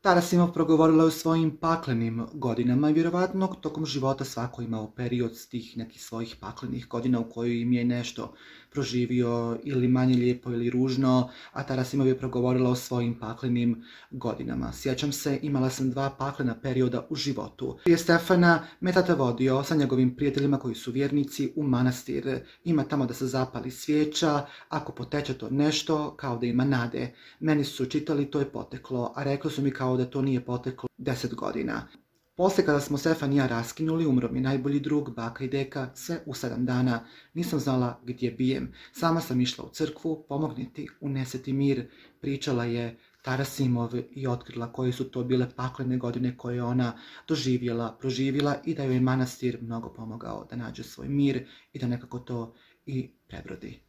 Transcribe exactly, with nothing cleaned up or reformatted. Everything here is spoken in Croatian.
Tarasimov progovorila je o svojim paklenim godinama i vjerovatno tokom života svako imao period s tih nekih svojih paklenih godina u kojoj im je nešto proživio ili manje lijepo ili ružno, a Tarasimov je progovorila o svojim paklenim godinama. Sjećam se, imala sam dva paklena perioda u životu. Prije Stefana me tata vodio sa njegovim prijateljima koji su vjernici u manastir. Ima tamo da se zapali svijeća, ako poteče to nešto, kao da ima nade. Meni su čitali, to je poteklo, a rekli su mi kao da to nije poteklo deset godina. Poslije kada smo Stefan i ja raskinuli, umro mi najbolji drug, baka i deka, sve u sedam dana. Nisam znala gdje bijem. Sama sam išla u crkvu, pomogniti, uneseti mir. Pričala je Tarasimov i otkrila koje su to bile paklene godine koje je ona doživjela, proživjela i da joj je manastir mnogo pomogao da nađe svoj mir i da nekako to i prebrodi.